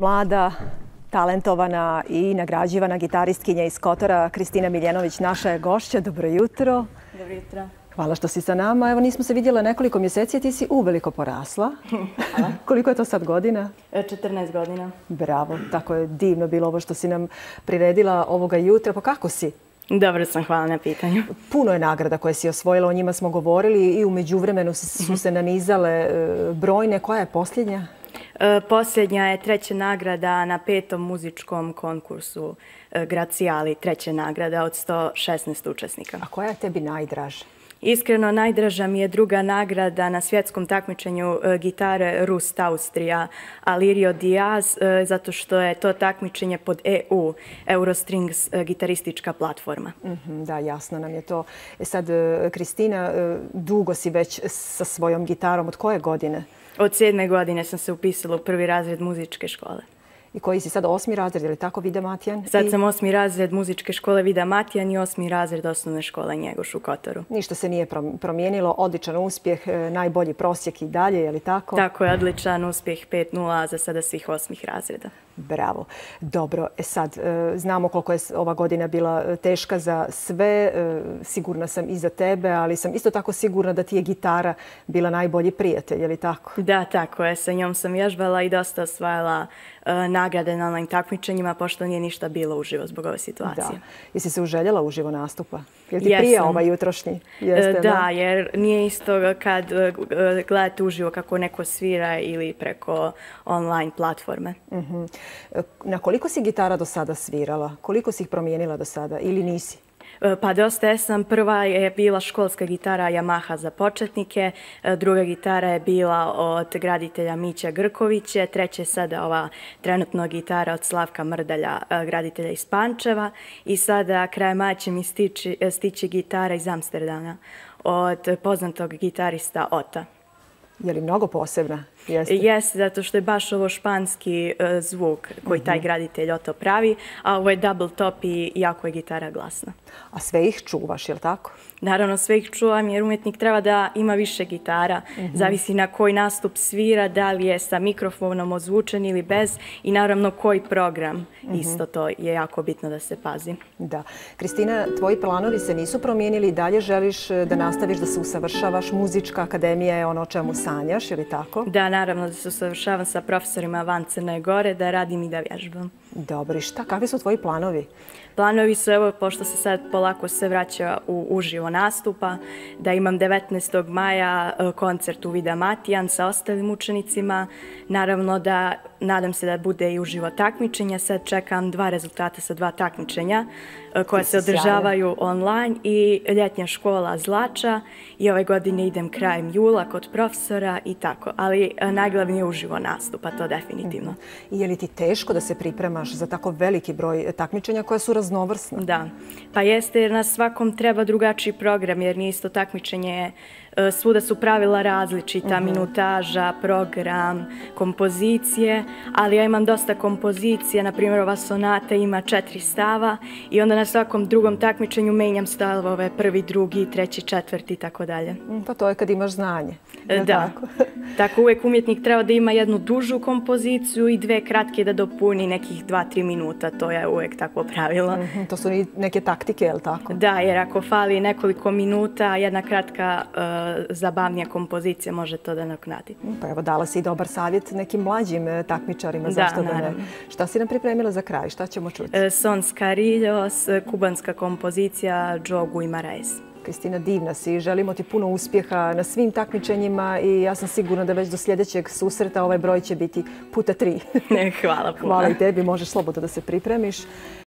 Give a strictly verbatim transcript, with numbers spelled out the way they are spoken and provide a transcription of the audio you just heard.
Mlada, talentovana i nagrađivana gitaristkinja iz Kotora, Kristina Miljenović, naša je gošća. Dobro jutro. Dobro jutro. Hvala što si sa nama. Evo, nismo se vidjela nekoliko mjeseci, a ti si uveliko porasla. Hvala. Koliko je to sad godina? četrnaest godina. Bravo, tako je divno bilo ovo što si nam priredila ovoga jutra. Pa kako si? Dobro sam, hvala na pitanju. Puno je nagrada koje si osvojila, o njima smo govorili i u međuvremenu su se nanizale brojne. Koja je posljednja? Posljednja je treća nagrada na petom muzičkom konkursu Gracijali, treća nagrada od sto šesnaest učesnika. A koja je tebi najdraža? Iskreno, najdraža mi je druga nagrada na svjetskom takmičenju gitare Rust Austrija Alirio Diaz, zato što je to takmičenje pod E U, Eurostrings gitaristička platforma. Da, jasno nam je to. E sad, Kristina, dugo si već sa svojom gitarom. Od koje godine? Od sedme godine sam se upisala u prvi razred muzičke škole. I koji si sad osmi razred, ili tako, Vida Matijan? Sad sam osmi razred muzičke škole Vida Matijan i osmi razred osnovne škole Njegoš u Kotoru. Ništa se nije promijenilo, odličan uspjeh, najbolji prosjek i dalje, je li tako? Tako je, odličan uspjeh, pet nula za sada svih osmih razreda. Bravo. Dobro, e sad, znamo koliko je ova godina bila teška za sve, sigurna sam i za tebe, ali sam isto tako sigurna da ti je gitara bila najbolji prijatelj, je li tako? Da, tako je, sa njom sam vježbala i dosta osvajala nagrade na online takmičenjima, pošto nije ništa bilo uživo zbog ove situacije. Da. Jesi se uželjela uživo nastupa? Je li ti prije ovaj jutrošnji? Da, jer nije isto kad gledate uživo kako neko svira ili preko online platforme. Na koliko si gitara do sada svirala? Koliko si ih promijenila do sada ili nisi? Pa dosta jesam. Prva je bila školska gitara Yamaha za početnike, druga gitara je bila od graditelja Mića Grkovića, treća je sada ova trenutno gitara od Slavka Mrdalja, graditelja iz Pančeva, i sada krajem maja će mi stići, stići gitara iz Amsterdama od poznatog gitarista Ota. Je li mnogo posebna? Jeste? Jeste, zato što je baš ovo španski zvuk koji taj graditelj Oto pravi, a ovo je double top i jako je gitara glasna. A sve ih čuvaš, je li tako? Naravno, sve ih čuvam jer umjetnik treba da ima više gitara. Zavisi na koji nastup svira, da li je sa mikrofonom ozvučen ili bez, i naravno koji program. Isto to je jako bitno da se pazi. Da. Kristina, tvoji planovi se nisu promijenili i dalje želiš da nastaviš da se usavršavaš. Muzička akademija je ono o čemu sanjaš, je li tako? Da, naravno da se usavršavam sa profesorima van Crne Gore, da radim i da vježbam. Dobro, i šta, kakvi su tvoji planovi? Planovi su, evo, pošto se sad polako se vraća u uživo nastupa, da imam devetnaestog maja koncert u Vida Matijan sa ostalim učenicima. Naravno da nadam se da bude i uživo takmičenja. Sad čekam dva rezultata sa dva takmičenja koja se održavaju online i ljetnja škola Zlača, i ove godine idem krajem jula kod profesora i tako. Ali najglavnije je uživo nastupa, to definitivno. I je li ti teško da se pripremaš za tako veliki broj takmičenja koja su raznovrsna? Da, pa jeste, jer na svakom treba drugačiji program, jer nije isto takmičenje, svuda su pravila različita, minutaža, program, kompozicije, ali ja imam dosta kompozicija, na primjer ova sonata ima četiri stava i onda na svakom drugom takmičenju menjam stavove, prvi, drugi, treći, četvrti i tako dalje. Pa to je kad imaš znanje. Da, tako uvijek umjetnik treba da ima jednu dužu kompoziciju i dve kratke da dopuni nekih dva, tri minuta, to je uvijek takvo pravilo. To su neke taktike, je li tako? Da, jer ako fali nekoliko minuta, jedna kratka zabavnija kompozicija može to da naknadi. Pa evo, dala si i dobar savjet nekim mlađim takmičarima, zašto da ne? Šta si nam pripremila za kraj, šta ćemo čuti? Son Scarillos, kubanska kompozicija Jogu i Marais. Kristina, divna si, želimo ti puno uspjeha na svim takmičenjima i ja sam sigurna da već do sljedećeg susreta ovaj broj će biti puta tri. Hvala puno. Hvala i tebi, možeš slobodno da se pripremiš.